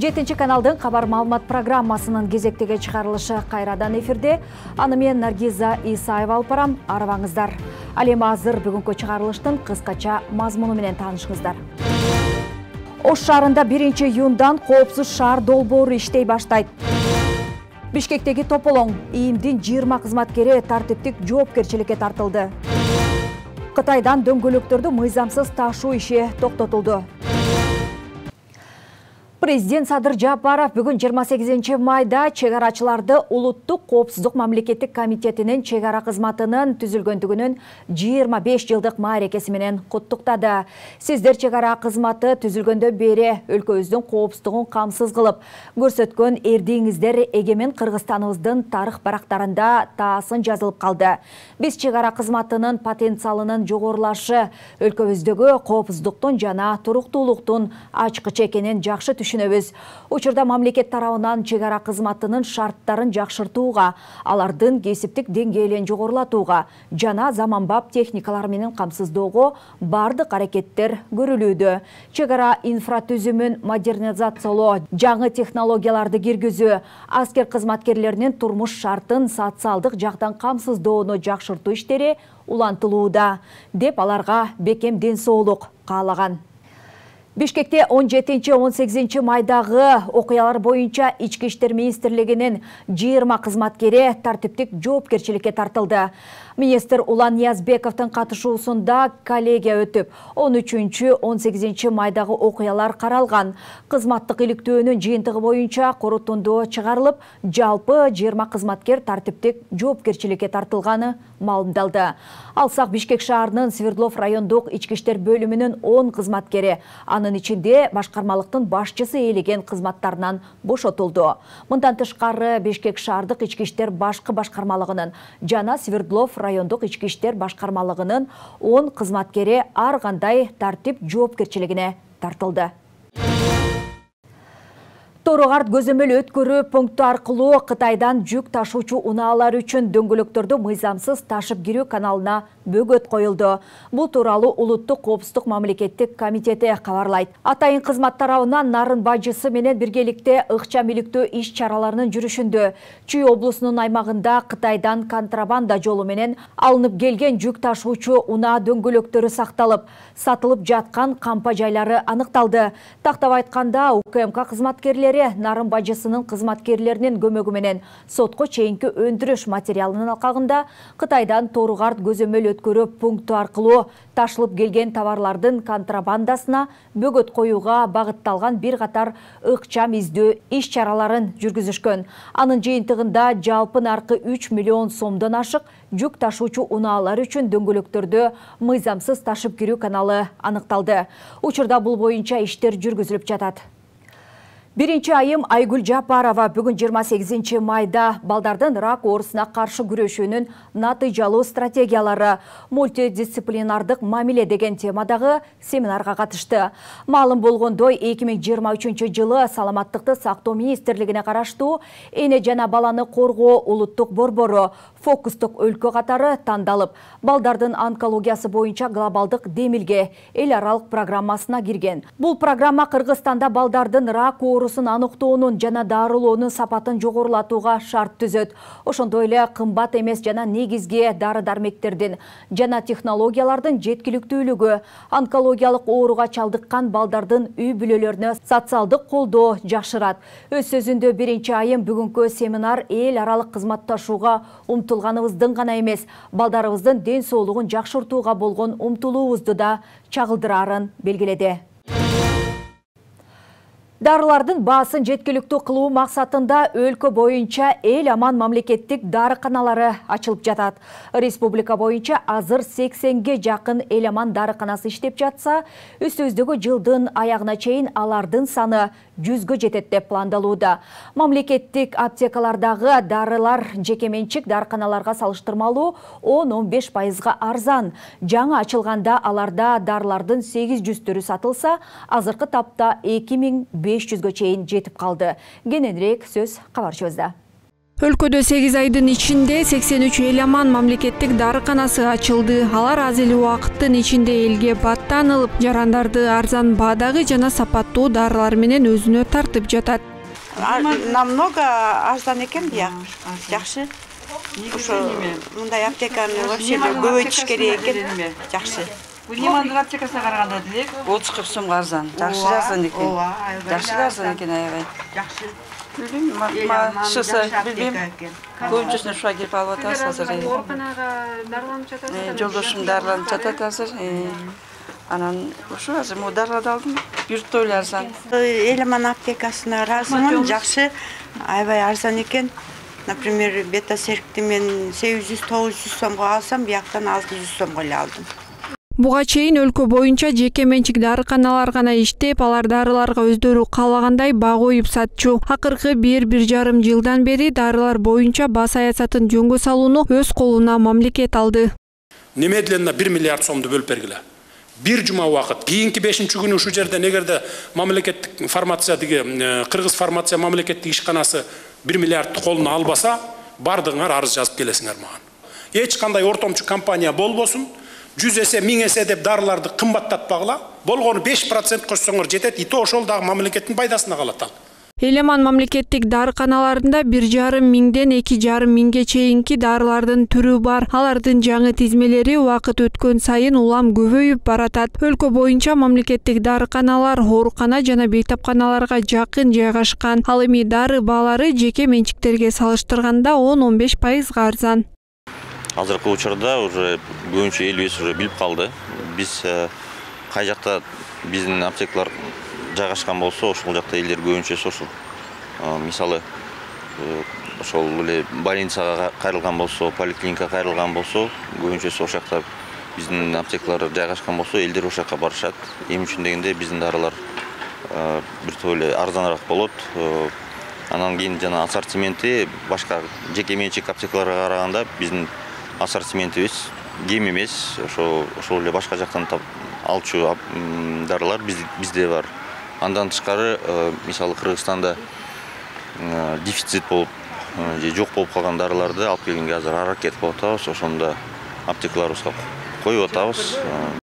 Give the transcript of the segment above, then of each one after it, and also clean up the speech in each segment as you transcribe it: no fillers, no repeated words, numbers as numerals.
7 каналдын кабар маалымат программасынын кезектеги чыгарылышы кайрадан эфирде. Аны мен Наргиза Исаева алып барам. Арабаңыздар. Ал эми азыр бүгүнкү чыгарылыштын кыскача мазмуну менен таанышыңыздар. Ош шаарында 1-июндан коопсуз шаар долбоору иштей баштайт. Бишкектеги тополоң ИИМдин 20 кызматкери тартиптик жоопкерчиликке тартылды. Кытайдан дөңгөлөктөрдү мыйзамсыз ташуу иши токтотулду. Президент Садыр Жапаров бүгүн 28 майда чегарачыларды Улуттук коопсуздук мамлекеттик комитетинин чегара кызматынын түзүлгөндүгүнүн 25 жылдык маарекеси менен куттуктады. Сиздер чегара кызматы түзүлгөндөн бери өлкөбүздүн коопсуздугун камсыз кылып көрсөткөн эрдиңиздер эгемен Кыргызстаныбыздын тарых барактарында таасын жазылып калды. Биз чегара кызматынын потенциалынын жогорулашы, өлкөбүздөгү коопсуздуктун жана туруктуулуктун ачкычы экенин жакшы түшүнөбүз. Учурда мамлекет тарабынан чегара кызматынын шарттарын жакшыртууга, алардын кесиптик деңгээлин жогорулатууга жана заманбап техникалар менен камсыздоого бардык аракеттер көрүлүүдө. Чегара инфратүзүмүн модернизациялоо, жаңы технологияларды киргизүү, аскер кызматкерлеринин турмуш шартын социалдык жактан камсыздоону жакшыртуу иштери улантылууда, деп аларга бекем ден соолук каалаган. Бишкекте 17-18 майдагы окуялар боюнча Ички иштер министрлигинин 20 кызматкери тартиптик жоопкерчиликке тартылды. Министр Улан Ниязбековдун катышуусунда коллегия өтүп, 13-18 майдагы окуялар каралган. Кызматтык иликтөөнүн жыйынтыгы боюнча корутунду чыгарылып, жалпы 20 кызматкер тартиптик жоопкерчиликке тартылганы маалымдалды. Алсак Бишкек шаарынын Свердлов райондук ички иштер бөлүмүнүн 10 кызматкери, анын ичинде башкармалыктын башчысы ээлеген кызматтарынан бошотулду. Мындан тышкары Бишкек шаардык ички иштер башкы башкармалыгынын жана Свердлов райондук ички иштер башкармалыгынын 10 кызматкери ар кандай тартип жоопкерчилигине тартылды. Торугарт көзөмөл өткөрүү пункту аркылуу Кытайдан жүк ташуучу унаалар үчүн дөңгөлөктөрдү мыйзамсыз ташып кирүү каналына бөгөт коюлду. Бул тууралуу Улуттук коопсуздук мамлекеттик комитети кабарлайт. Атайын кызмат тарабынан Нарын бажысы менен биргеликте ыкчам иликтөө иш чараларынын жүрүшүндө Чүй облусунун аймагында Кытайдан контрабанда жолу менен алынып келген жүк ташуучу унаа дөңгөлөктөрү сакталып, сатылып жаткан кампа жайлары аныкталды. Тактап айтканда, УКМК кызматкерлери Нарын бажысынын кызматкерлеринин көмөгү менен сотко чейинки өндүрүш материалынын алкагында Кытайдан Торугарт көзөмөл өткөрүү пункту аркылуу ташылып келген товарлардын контрабандасына бөгөт коюуга багытталган бир катар ыкчам издөө иш чараларын жүргүзүшкөн. Анын жыйынтыгында жалпы наркы 3 миллион сомдон ашык жүк ташуучу унаалар үчүн дөңгөлөктөрдү мыйзамсыз ташып кирүү каналы аныкталды. Учурда бул боюнча иштер жүргүзүлүп жатат. Биринчи айым Айгүл Жапарова бүгүн 28 майда балдардын рак оорусуна каршы күрөшүүнүн натыйжалуу стратегиялары мультидисциплинардык мамиле деген темадагы семинарга катышты. Маалым болгондой, 2023 жылы Саламаттыкты сактоо министрлигине караштуу эне жана баланы коргоо улуттук борбору фокустук өлкө катары тандалып, балдардын онкологиясы боюнча глобалдык демилге эл аралык программасына кирген. Бул программа Кыргызстанда балдардын рак оорусун аныктоонун жана дарылоонун сапатын жогорулатууга шарт түзөт. Ошондой эле кымбат эмес жана негизги дары-дармектердин жана технологиялардын жеткиликтүүлүгү, онкологиялык ооруга чалдыккан балдардын үй бүлөлөрүнө социалдык колдоо жакшырат. Өз сөзүндө биринчи айым бүгүнкү семинар эл аралык кызматташууга умтулганыбыздын гана эмес, балдарыбыздын ден соолугун жакшыртууга болгон умтулуубузду да чагылдырарын белгиледи. Дарылардын баасын жеткиликтүү кылуу максатында өлкө боюнча эл аман мамлекеттик дарыканалары ачылып жатат. Республика боюнча азыр 80ге жакын эл аман дарыканасы иштеп жатса, үстүбүздөгү жылдын аягына чейин алардын саны 100гө жетет деп пландалууда. Мамлекеттик аптекалардагы дарылар жекеменчик дарыканаларга салыштырмалуу 10-15% арзан. Жаңы ачылганда аларда дарылардын 800 түрү сатылса, азыркы тапта 2500гө чейин жетип калды. Кененирээк сөз кабарчыбызда. Өлкөдө 8 айдын ичинде 83 Эламан мамлекеттик дарыканасы ачылды. Алар аз эле убакыттын ичинде элге баттанылып, жарандарды арзан баадагы жана сапаттуу дарылар менен өзүнө тартып жатат. Намного арзан экен бияк. Жакшы. Ошо мындай аптеканы вообще көбөйтүш керек экен. Жакшы. Бул Лимандын аптекасына караганда делек 30-40 сомго арзан. Жакшы арзан экен. Жакшы арзан экен аябай. жакшы. Шысы билбейм. Көбүнчөсүнө ушуга келип алып атабыз азыр. Ооруканага дарыланып жатасызбы? Жолдошум дарыланып жатат азыр. Анан ушу азыр могу дарыларды алдым. Бюртто эле арзан. Эламан аптекасына ыраазымын. Жакшы, аябай арзан экен. Например, бета-серкти мен 800-900 сомго алсам, бияктан 600 сомго эле алдым. Буга чейин өлкө боюнча жеке менчик дарыканалар гана иштеп, алар дарыларга өздөрү каалагандай баа коюп сатчу. Акыркы 1,5 жылдан бери дарылар боюнча баа саясатын жөнгө салууну өз колуна мамлекет алды. Немедленно 1 миллиард сомду бөлүп бергиле. Бир жума убакыт. Кийинки 5-күнү ушул жерден эгерде мамлекеттик фармация Кыргыз фармация мамлекеттик ишканасы 1 миллиардты колуна албаса, бардыгыңар арыз жазып келесиңер мага. Эч кандай ортомчу компания болбосун. 100 эсе, 1000 эсе деп дарыларды кымбаттатпагыла. Болгону 5% кошсоңор жетет. И то ошол дагы мамлекеттин пайдасына калат ал. Эламан мамлекеттик дарыканаларында 1,5 миңден 2,5 миңге чейинки дарылардын түрү бар. Алардын жаңы тизмелери убакыт өткөн сайын улам көбөйүп баратат. Өлкө боюнча мамлекеттик дарыканалар оорукана жана бейтапканаларга жакын жайгашкан. Ал эми дары баалары жеке менчиктерге салыштырганда 10-15% арзан. Азыркы учурда уже көбүнчө элибиз уже билип калды. Биз кай жакта биздин аптекалар жайгашкан болсо, ошол жакта элдер көбүнчө ошол. Мисалы, ошол эле больницага кайрылган болсо, поликлиникага кайрылган болсо, көбүнчө ошол жакта биздин аптекалар жайгашкан болсо, элдер ошол жака барышат. Эми үчүн дегенде биздин дарылар бир топ эле арзаныраак болот. Анан кийин жана ассортименти башка жеке менчик аптекаларга караганда биздин ассортиментибиз кем эмес. Ошол эле башка жактан алчу дарылар бизде бар. Андан тышкары, мисалы Кыргызстанда дефицит болуп, же жок болуп калган дарыларды алып келгенге азыр аракет кылып атабыз. Ошондо аптекаларыбызга коюп атабыз.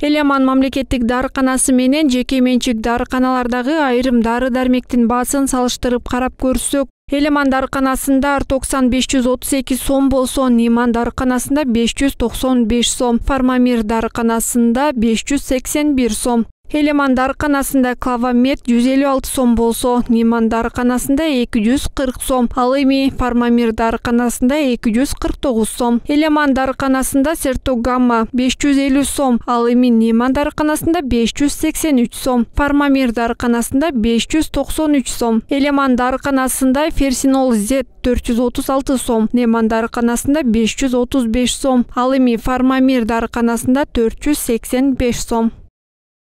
Эламан мамлекеттик дарыканасы менен жеке менчик дарыканалардагы айрым дары-дармектин баасын салыштырып карап көрсөк, Эламан дарыканасында Артоксан 532 сом болсо, Ниман дарыканасында 595 сом, Фармамир дарыканасында 581 сом. Эламан дарыканасында Клавамед 156 сом болсо, Ниман дарыканасында 240 сом, ал эми Фармамир дарыканасында 249 сом. Эламан дарыканасында Сертогамма 550 сом, ал эми Ниман дарыканасында 583 сом, Фармамир дарыканасында 593 сом. Эламан дарыканасында Ферсинол Z 436 сом, Ниман дарыканасында 535 сом, ал эми Фармамир дарыканасында 485 сом.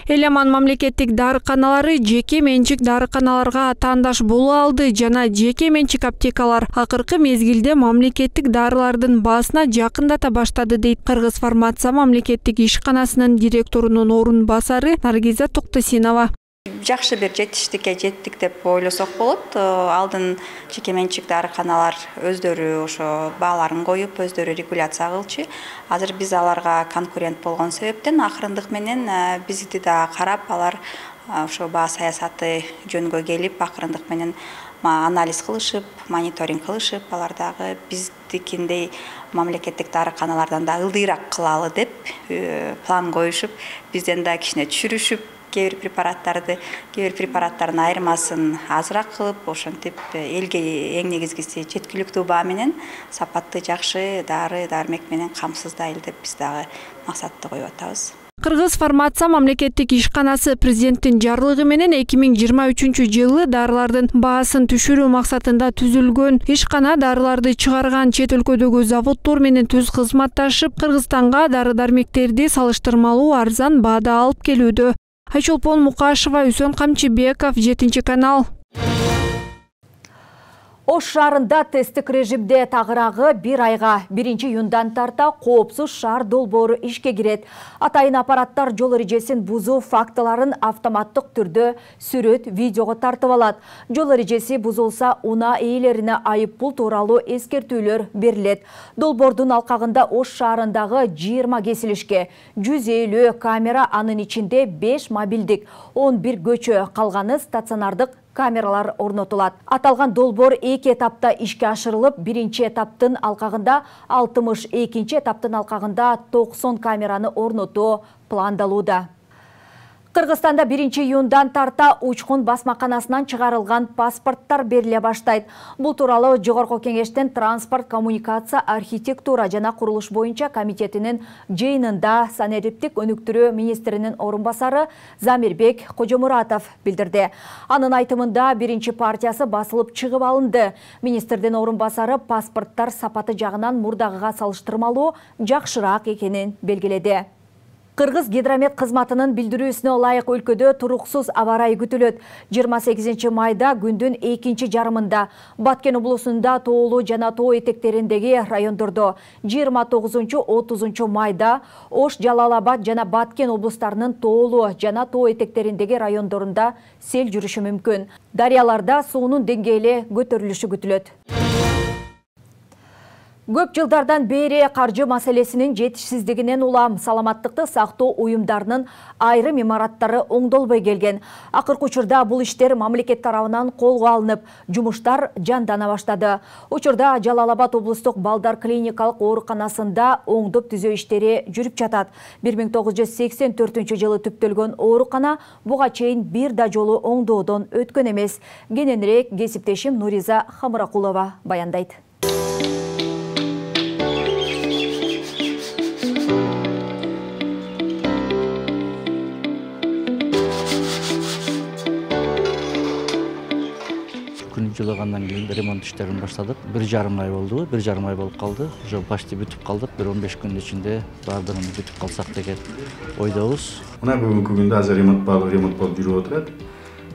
Эламан мамлекеттик дарыканалары жеке менчик дарыканаларга атаандаш боло алды жана жеке менчик аптекалар акыркы мезгилде мамлекеттик дарылардын баасына жакындата баштады, дейт Кыргыз фармация мамлекеттик ишканасынын директорунун орун басары Наргиза Токтосинова. Жакшы бир жетиштикке жеттик деп ойлосок болот. Алдын жеке менчик дарыканалар өздөрү ошо бааларын коюп, өздөрү регуляция кылчу. Азыр биз аларга конкурент болгон себептен акырындык менен бизди да карап, алар ошо баа саясаты жөнгө келип, акырындык менен анализ кылышып, мониторинг кылышып, алар дагы биздикиндей мамлекеттик дарыканалардан да ылдыйраак кылалы деп план коюшуп, бизден да кичине түшүрүшүп, кээ бир препараттардын айырмасын азыраак кылып, ошентип элге эң негизгиси жеткиликтүү баа менен сапаттуу жакшы дары-дармек менен камсыздайлы деп биз дагы максатты коюп атабыз. Кыргыз фармация мамлекеттик ишканасы президенттин жарлыгы менен 2023 жылы дарылардын баасын түшүрүү максатында түзүлгөн. Ишкана дарыларды чыгарган чет өлкөдөгү заводдор менен түз кызматташып, Кыргызстанга дары-дармектерди салыштырмалуу арзан баада алып келүүдө. Айчолпон Мукашева, Үсөн Камчыбеков, 7 канал. Ош шаарында тесттик режимде тагыраагы 1 айга 1-июндан тарта коопсуз шаар долбоору ишке кирет. Атайын аппараттар жол эрежесин бузуу фактыларын автоматтык түрдө сүрөт, видеого тартып алат. Жол эрежеси бузулса, унаа ээлерине айыппул тууралуу эскертүүлөр берилет. Долбоордун алкагында Ош шаарындагы 20 кесилишке 150 камера, анын ичинде 5 мобилдик, 11 көчө, калганы стационардык камералар орнотулат. Аталган долбоор 2 этапта ишке ашырылып, 1-чи этаптын алкагында 60, 2-чи этаптын алкагында 90 камераны орнотуу пландалууда. Кыргызстанда 1-июндан тарта учкун басмаканасынан чыгарылган паспорттар бериле баштайт. Бул тууралуу Жогорку Кеңештин транспорт, коммуникация, архитектура жана курулуш боюнча комитетинин жыйынында санариптик өнүктүрүү министринин орун басары Замирбек Кожомуратов билдирди. Анын айтымында 1-чи партиясы басылып чыгып алынды. Министрдин орун басары паспорттар сапаты жагынан мурдагыга салыштырмалуу жакшыраак экенин белгиледи. Кыргыз гидромет кызматынын билдирүүсүнө ылайык өлкөдө туруксуз аба ырайы күтүлөт. 28 майда күндүн 2-чи жарымында Баткен облусунда тоолуу жана тоо этектериндеги райондордо, 29-30 майда Ош, Жалал-Абад жана Баткен облустарынын тоолуу жана тоо этектериндеги райондорунда сел жүрүшү мүмкүн. Дарыяларда суунун деңгээли көтөрүлүшү күтүлөт. Көп жылдардан бери каржы маселесинин жетишсиздигинен улам саламаттыкты сактоо уюмдарынын айрым имараттары оңдолбой келген. Акыркы учурда бул иштер мамлекет тарабынан колго алынып, жумуштар жандана баштады. Учурда Жалал-Абад облустук балдар клиникалык ооруканасында оңдоп түзөө иштери жүрүп жатат. 1984 түптөлгөн оорукана буга чейин бир да жолу оңдоодон өткөн эмес. Кененирээк кесиптешим Нуриза Хамракулова баяндайт. Жылыгандан кийин ремонт иштерин баштадык. 1,5 ай болду. 1,5 ай болуп калды. Уже почти бүтүп калдык. 15 күндүн ичинде баардыгын бүтүп калсак деген ойдобуз. Мына бүгүнкү күндө азыр ремонт болуп жүрүп отурат.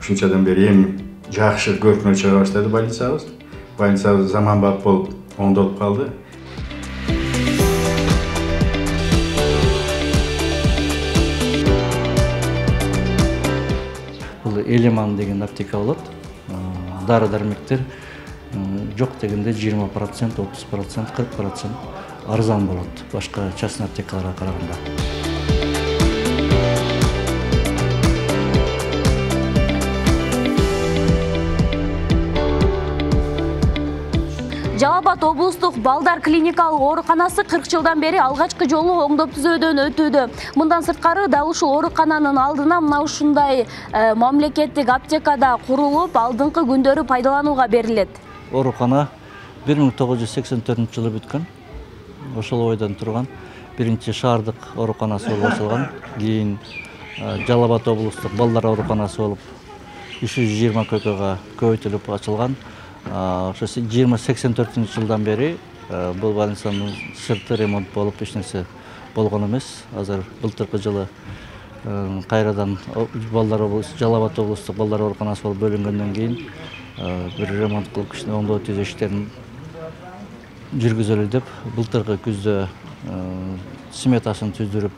Ушунчадан бери эми жакшы көркүнө чыга баштады больницабыз. Больницабыз заманбап болуп оңдолуп калды. Бул Элеман деген аптека болот. Дары-дармектер жок дегенде 20%, 30%, 40% арзан болот башка частный аптекаларга караганда. Жалал-Абад облустук балдар клиникалык ооруканасы 40 жылдан бери алгачкы жолу оңдоп түзөөдөн өтүүдө. Мындан сырткары дал ушул оорукананын алдына мына ушундай мамлекеттик аптекада курулуп, алдыңкы күндөрү пайдаланууга берилет. Оорукана 1984 жылы бүткөн. Ошол ойдон турган биринчи шаардык ооруканасы болуп ачылган. Кийин Жалал-Абад облустук балдар ооруканасы болуп 320 койкага көбөйтүлүп ачылган. Ошо 84 жылдан бери бул больницанын сырты ремонт болуп эч нерсе болгон эмес. Азыр былтыркы жылы кайрадан Жалал-Абад облустук балдар ооруканасы болуп бөлүнгөндөн кийин бир ремонт кылып кичине оңдоо түзөө иштерин жүргүзөлү деп былтыркы күздө сметасын түздүрүп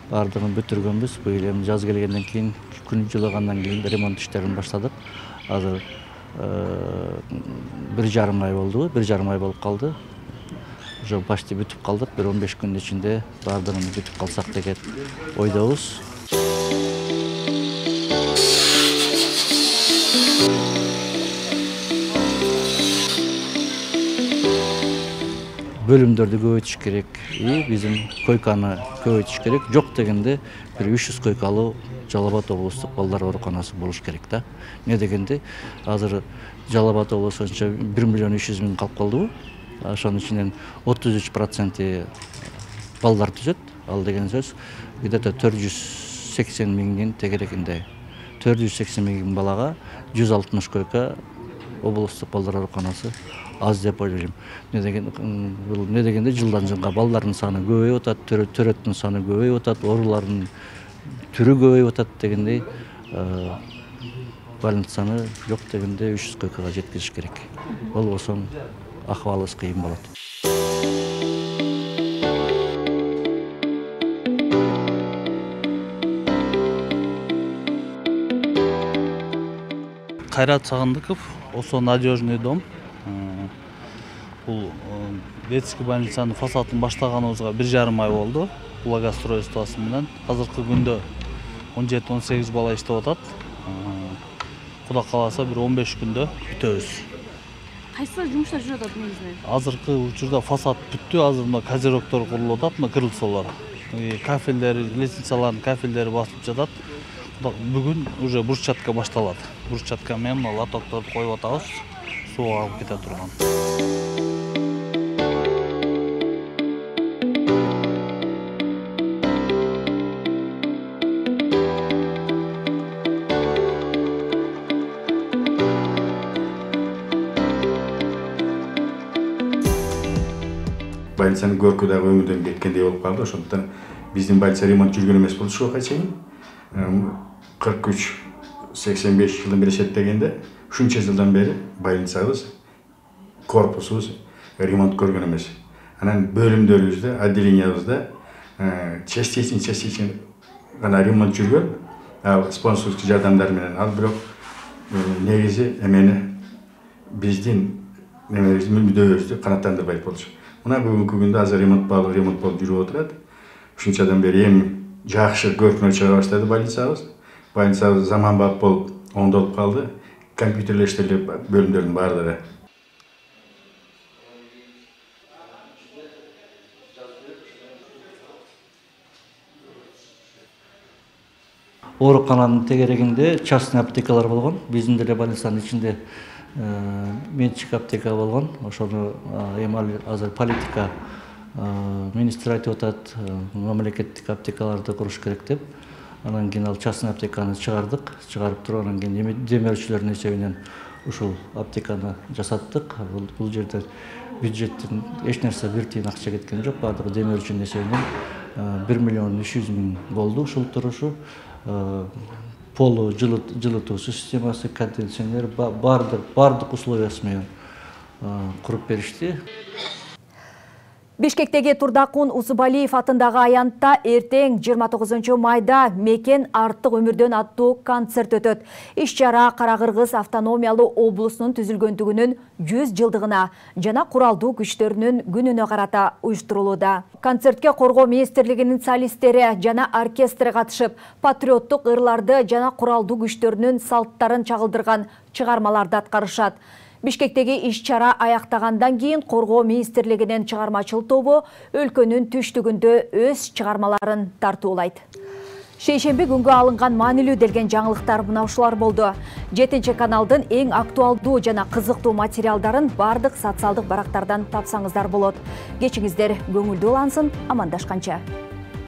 баардыгын бүтүргөнбүз. Быйыл эми жаз келгенден кийин күн жылыгандан кийин ремонт иштерин баштадык. Азыр 1,5 ай болду. 1,5 ай болуп калды. Уже почти бүтүп калдык. 15 күндүн ичинде баардыгын бүтүп калсак деген ойдобуз. Бөлүмдөрдү көбөйтүш керек. Биздин койканы көбөйтүш керек. Жок дегенде бир 300 койкалуу Жалал-Абад облустук балдар ооруканасы болуш керек да. Не дегенде азыр Жалал-Абад облусунча 1,3 миллион калып калдыбы? Ошонун ичинен 33% балдар түзөт. Ал деген сөз где-то 480 миңдин тегерегинде. 480 миң балага 160 койка облустук балдар ооруканасы аз деп ойлойм. Не дегенде жылдан жылга балдардын саны көбөйүп атат, төрөттүн саны көбөйүп атат, оорулардын түрү көбөйүп атат дегендей больницаны жок дегенде 300 койкага жеткизиш керек. Болбосо акыбалыбыз кыйын болот. Кайрат Сагындыков, ОСО «Надежный дом». Бул детский больницанын фасадын баштаганыбызга 1,5 ай болду. Благоустройствосы менен азыркы күндө 17-18 бала иштеп атат. Кудай кааласа бир 15 күндө бүтөбүз. Кайсы жумуштар жүрүп атат негизинен? Азыркы учурда фасад бүттү, азыр мына козерогдор курулуп атат, мына крыльцолор. Кафелдер, лестницалардын кафелдери басылып жатат. Бүгүн уже брусчатка башталат. Брусчатка менен лотокторду коюп атабыз, суу алып кете турган. Больницанын көркү дагы өңүдөн кеткендей болуп калды. Ошондуктан биздин больница ремонт жүргөн эмес болду ушуга чейин. 43-85 жылдан бери эсептегенде ушунча жылдан бери больницабыз, корпусубуз ремонт көргөн эмес. Анан бөлүмдөрүбүздө, отделениябызда частично гана ремонт жүргөн. Ал спонсордук жардамдар менен, ал бирок негизи эмени биздин мүддөбүздү канааттандырбайт болчу. Мына бүгүнкү күндө азыр ремонт болуп жүрүп отурат. Ушунчадан бери эми жакшы көркүнө чыга баштады больницабыз. Больницабыз заманбап болуп, оңдолуп калды. Компьютерлештирилип бөлүмдөрдүн баардыгы. Оорукананын тегерегинде частный аптекалар болгон. Биздин деле больницанын ичинде менчик аптека болгон. Ошону эми азыр политика министр айтып атат, мамлекеттик аптекаларды куруш керек деп. Анан кийин ал частный аптеканы чыгардык. Чыгарып туруп анан кийин демөөрчүлөрдүн эсебинен ушул аптеканы жасаттык. Бул жерде бюджеттен эч нерсе бир тыйын акча кеткен жок. Баардыгы демөөрчүнүн эсебинен 1,3 миллион болду ушул турушу. Полу жылытуу системасы, кондиционер, баардык условиясы менен куруп беришти. Бишкектеги Турдакун Усубалиев атындагы аянтта эртең 29 майда «Мекен артык өмүрдөн» аттуу концерт өтөт. Иш-чара Кара-Кыргыз автономиялуу облусунун түзүлгөндүгүнүн 100 жылдыгына жана куралдуу күчтөрүнүн күнүнө карата уюштурулууда. Концертке Коргоо министрлигинин солисттери жана оркестри катышып, патриоттук ырларды жана куралдуу күчтөрүнүн салттарын чагылдырган чыгармаларды аткарышат. Бишкектеги иш-чара аяктагандан кийин Коргоо министрлигинин чыгармачыл тобу өлкөнүн түштүгүндө өз чыгармаларын тартуулайт. Шейшемби күнгө алынган маанилүү делген жаңылыктар мына ушулар болду. 7-каналдын эң актуалдуу жана кызыктуу материалдарын бардык социалдык барактардан тапсаңыздар болот. Кечиңиздер көңүлдүү улансын, амандашканча.